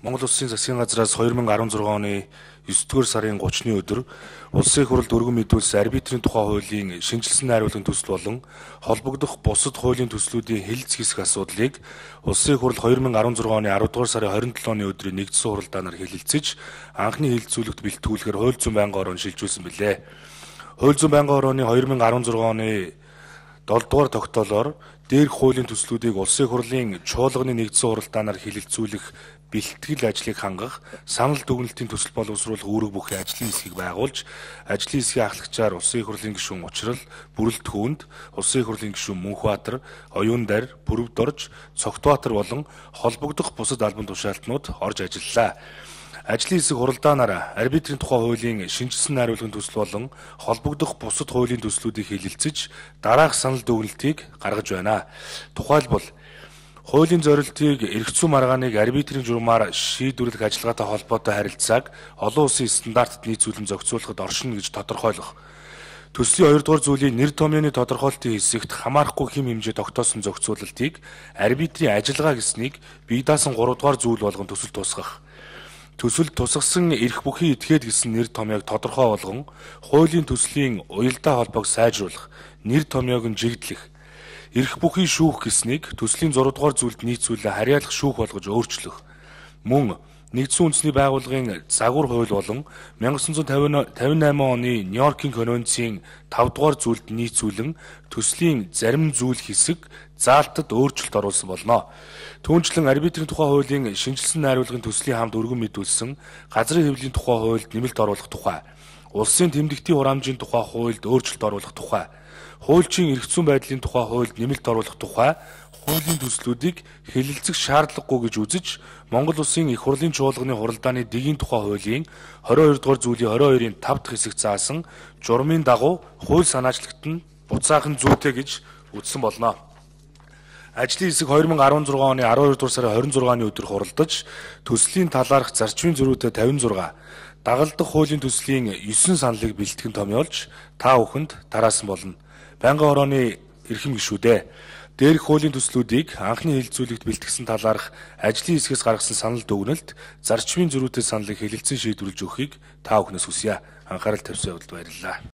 Монгол Улсын засгийн газраас 2016 оны 9-р сарын 30-ны өдөр Улсын их хурлд өргөн мэдүүлсэн арбитрийн тухай хуулийн шинжилсэн найруулгын төсөл болон холбогдох бусад хуулийн төслүүдийн хэлэлц хэсэх асуудлыг Улсын их хурл 2016 оны 10-р сарын 27-ны өдрийн нэгдсэн хуралдаанаар хэлэлцэж анхны хэлэлцүүлэгт бэлтгүүлэхээр хууль зүйн байнгын орон шилжүүлсэн билээ. Хууль зүйн байнгын орооны 2016 оны 7-р тогтоолоор дээрх хуулийн төслүүдийг Улсын их хурлын чуулганы нэгдсэн хуралдаанаар хэлэлцүүлэх бэлтгэл ажлыг хангах, санал дүгнэлтийн төсөл боловсруулах үүрэг бүхий ажлын хэсгийг байгуулж, ажлын хэсгийн ахлагчаар Улсын их хурлын гишүүн Учрал, Бүрэлд Хөөнд, Улсын их хурлын гишүүн Мөнхбаатар, Оюундар, Бүрвдорж, Цогтбаатар болон холбогдох бусад албан тушаалтнууд орж ажиллалаа. Ажлын хэсэг хуралдаанаар арбитрийн тухай хуулийн шинжилсэн найруулгын төсөл болон холбогдох бусад хуулийн төслүүдийг хэлэлцэж, дараах санал дүгнэлтийг гаргаж байна. Тухайлбал хуулийн зорилтыг эрх зүйн маргааныг арбитрийн журмаар шийдвэрлэх ажиллагаатай холбоотой харилцааг олон улсын стандартад нийцүүлэн зохицуулахад оршино гэж тодорхойлох. Төслийн 2-р зүйлийн нэр томьёоны тодорхойлолтын хэсэгт хамаарахгүй хэм хэмжээ тогтоосон зохицуулалтыг арбитрийн ажиллагаа гэснийг бие даасан 3-р зүйл болгон төсөлд тусгах. Төсөлд тусгасан эрх бүхий этгээд гэсэн нэр томьёог тодорхой болгон хуулийн төслийн уялдаа холбоог сайжруулах, нэр томьёог нь жигдлэх. Эрх бүхий шүүх гэснийг төслийн 6-р зүйлд нийцүүлэн харьяалах шүүх болгож өөрчлөх. Мөн нэгдсэн үндэсний байгууллагын загвар хууль болон 1958 оны Нью-Йоркийн конвенцийн 5-р зүйлд нийцүүлэн төслийн зарим зүйл хэсэг заалтад өөрчлөлт оруулсан болно. Түүнчлэн арбитрийн тухай хуулийн шинжилсэн найруулгын төслийн хамт өргөн мэдүүлсэн газрын хэвлэлийн тухай хуульд нэмэлт оруулах тухай, улсын тэмдэгтийн хураамжийн тухай хуульд өөрчлөлт оруулах тухай, хуульчийн эрх зүйн байдлын тухай хуульд нэмэлт оруулах тухай хуулийн төслүүдийг хэлэлцэх шаардлагагүй гэж үзэж Монгол Улсын их хурлын чуулганы хуралдааны дэгийн тухай хуулийн 22-р зүйлийн 22-ийн 5 дахь хэсэг заасан журмын дагуу хууль санаачлагт нь буцаахан зүйтэй гэж үзсэн болно. Ажлын хэсэг 2016 оны 12-р сарын 26-ны өдөр хуралдаж төслийн талаарх зарчмын зөрүүтэй 56, дагалдах хуулийн төслийн 9 саналыг бэлтгэн томьёолж та бүхэнд тараасан болно. Байнгын орооны эрхэм гишүүдээ дээрх хуулийн төслүүдийг анхны хэлэлцүүлэгт бэлтгэсэн талаарх ажлын хэсгээс гаргасан санал дүгнэлт, зарчмын зөрүүтэй саналыг хэлэлцэн шийдвэрлэж өгөхийг та бүхнээс хүсье. Анхаарал тавьсан явдалд баярлалаа.